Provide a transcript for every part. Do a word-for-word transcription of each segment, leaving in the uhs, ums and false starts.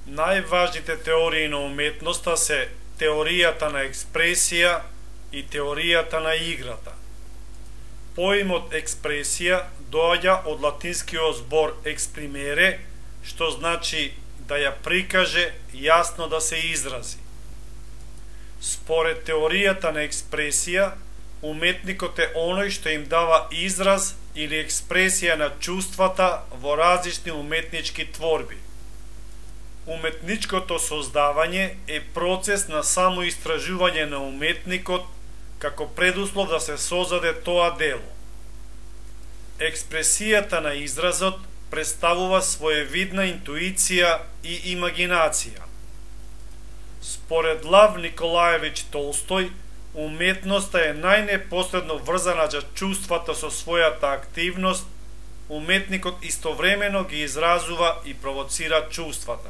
Најважните теории на уметноста се теоријата на експресија и теоријата на играта. Поимот експресија доаѓа од латинскиот збор exprimere, што значи да ја прикаже, јасно да се изрази. Според теоријата на експресија, уметникот е оној што им дава израз или експресија на чувствата во различни уметнички творби. Уметничкото создавање е процес на самоистражување на уметникот како предуслов да се создаде тоа дело. Експресијата на изразот представува своевидна интуиција и имагинација. Според Лав Николаевич Толстој, уметноста е најнепосредно врзана за чувствата со својата активност, уметникот истовремено ги изразува и провоцира чувствата.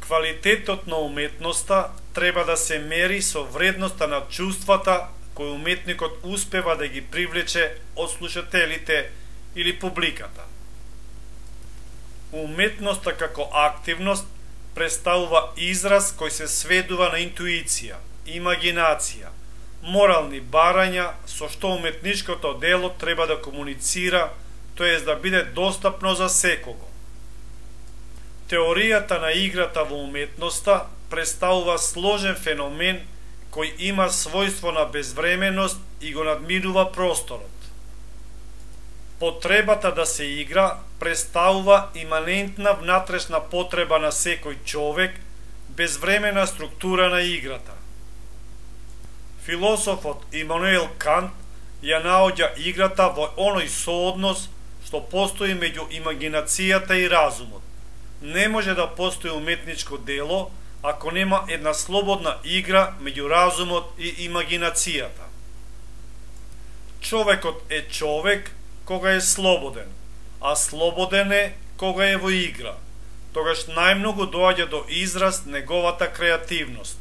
Квалитетот на уметноста треба да се мери со вредноста на чувствата кои уметникот успева да ги привлече од слушателите или публиката. Уметноста како активност представува израз кој се сведува на интуиција, имагинација, морални барања со што уметничкото дело треба да комуницира, тоест да биде достапно за секого. Теоријата на играта во уметноста представува сложен феномен кој има својство на безвременост и го надминува просторот. Потребата да се игра представува иманентна внатрешна потреба на секој човек, безвремена структура на играта. Философот Имануел Кант ја наоѓа играта во оној сооднос што постои меѓу имагинацијата и разумот. Не може да постои уметничко дело ако нема една слободна игра меѓу разумот и имагинацијата. Човекот е човек кога е слободен, а слободен е кога е во игра. Тогаш најмногу доаѓа до израз неговата креативност.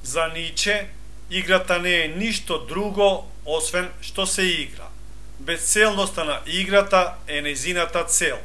За Ниче, играта не е ништо друго освен што се игра. Безцелноста на играта е нејзината цел.